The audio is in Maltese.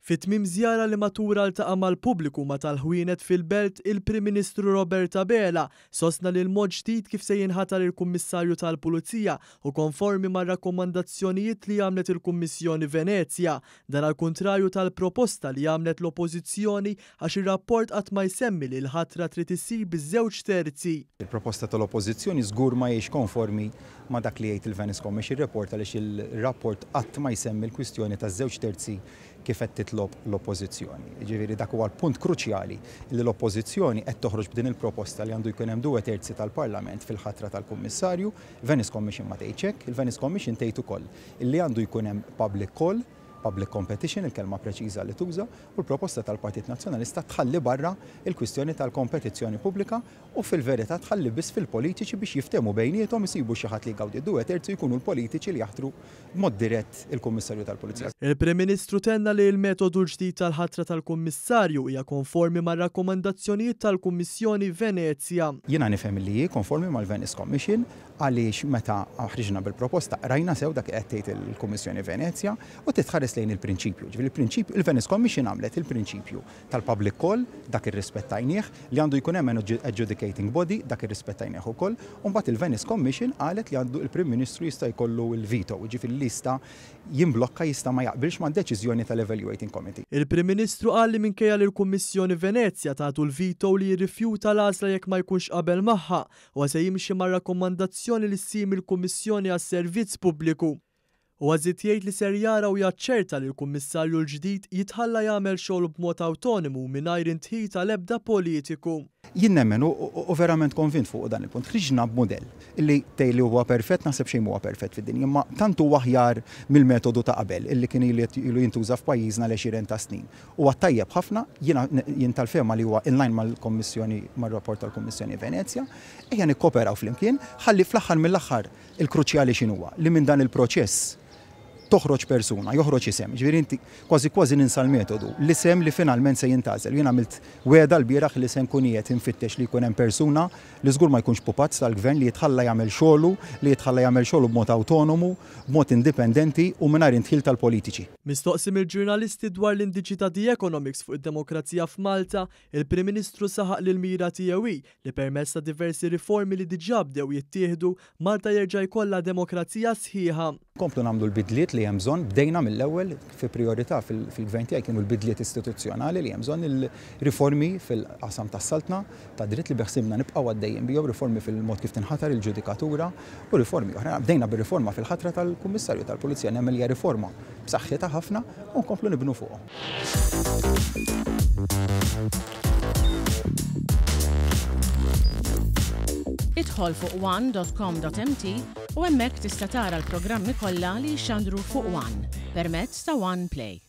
Fi tmiem żjara li matulha ltaqa' mal-pubbliku ma' tal-ħwienet fil-Belt, il-Prim Ministru Robert Abela sostna li l-mod ġdid kif se jinħatar il-Kummissarju tal-Pulizija hu konformi mar-rakkomandazzjonijiet li għamlet il-Kummissjoni Venezja. Dan għall-kuntrarju tal-proposta li għamlet l-Oppożizzjoni għax ir-rapport qatt ma jsemmi li l-ħatra trid issir biż-żewġ terzi. Il-proposta tal-Oppożizzjoni żgur ma hijiex konformi ma' dak li jgħid il-Venice Commission Report għaliex il-rapport qatt ma jsemmi l-kwistjoni taż-żewġ terzi kif qed titlob l-Oppożizzjoni. Jiġifieri dak huwa l-punt kruċjali li l-Oppożizzjoni qed toħroġ b'din il-proposta li għandu jkun hemm due terzi tal-Parlament fil-ħatra tal-Kummissarju. Venice Commission ma tgħidx hekk, il-Venice Commission tgħid ukoll li għandu jkun hemm public call, public competition, il-kelma preċiża li tuża, u l-proposta tal-Partit Nazzjonalista tħalli barra l-kwistjoni tal-kompetizzjoni pubblika u fil-verità tħalli biss fil-politiċi biex jiftehmu bejniethom, isibu xi ħadd li jgawdi d-due terzi u jkunu l-politiċi li jaħtru b'mod dirett il-Kummissarju tal-Pulizija. Il-Prim Ministru tenna li l-metodu l-ġdid tal-ħatra tal-Kummissarju hija konformi mar-rakkomandazzjonijiet tal-Kummissjoni Venezja. Jiena nifhem li hi konformi mal-Venice Commission għaliex meta ħriġna bil-proposta qrajna sew dak li qed tgħid il-Kummissjoni Venezja u trid tħares lejn il-prinċipju. Jiġifieri il-prinċipju, il-Venice Commission għamlet il-prinċipju tal-public call, dak irrispettajnieh, li għandu jkun hemm an adjudicating body, dak irrispettajnieh ukoll, u mbagħad il-Venice Commission qalet li għandu il-Prim Ministru jista' jkollu l-veto, jiġifieri li jista' jimblokka, jista' ma jaqbilx mad-deċiżjoni tal-Evaluating Committee. Il-Prim Ministru qal li minkejja li l-Kummissjoni Venezja tagħtu l-veto li jirrifjuta l-għażla jekk ma jkunx qabel magħha, huwa se jimxi mar-rakkomandazzjoni li ssir mill-Kummissjoni għas-Servizz Pubbliku. Huwa żied jgħid li ser jara u jaċċerta li l-Kummissarju l-ġdid jitħalla jagħmel xogħlu b'mod awtonimu mingħajr indħil tal-ebda politiku. Jien nemmen u verament konvint fuq dan il-punt. Ħriġna b'mudell li tgħid li huwa perfett, naħseb xejn m'huwa perfett fid-dinja, imma tant huwa aħjar mill-metodu ta' qabel illi kien ilu jintuża f'pajjiżna l-għexieren ta' snin. Huwa tajjeb ħafna, jiena jien tal-fehma li huwa in line mal-Kommissjoni mar-rapport tal-Kummissjoni Venezja. Ejja nikkooperaw flimkien ħalli fl-aħħar mill-aħħar Il-kruċjali x'inhuwa? Li minn dan il-proċess toħroġ persuna, joħroġ isem. Jiġifieri inti kważi kważi ninsa l-metodu, l-isem li finalment se jintgħażel. Jien għamilt wegħda lbieraħ li se nkun qiegħed infittex li jkun hemm persuna li żgur ma jkunx pupazz tal-Gvern li jitħalla jagħmel xogħlu, li jitħalla jagħmel xogħlu b'mod awtonomu, b'mod indipendenti u mingħajr indħil tal-politiċi. Mistoqsi mill-ġurnalisti dwar l-indiċi ta' The Economics fuq id-demokrazija f'Malta, il-Prim Ministru saħaq li l-mira tiegħu hi li permezz ta' diversi riformi li diġà bdew jittieħdu, Malta jerġa' jkollha demokrazija sħiħa. Nkomplu nagħmlu l-bidliet li hemm bżonn, bdejna mill-ewwel, fi prijorità fil-Gvern tiegħi kienu l-bidliet istituzzjonali li hemm bżonn, il-riformi fil-qasam tas-saltna tad-dritt li beħsiebna nibqgħu għaddejjin bihom, riformi fil-mod kif tinħatar il-ġudikatura u riformi oħra. Bdejna bir-riforma fil-ħatra tal-Kummissarju tal-Pulizija, nemmen li hija riforma b'saħħitha ħafna u nkomplu nibnu fuqhom. Idħol fuq one.com.mt u hemmhekk tista' tara l-programmi kollha li jixxandru fuq One permezz ta' One Play.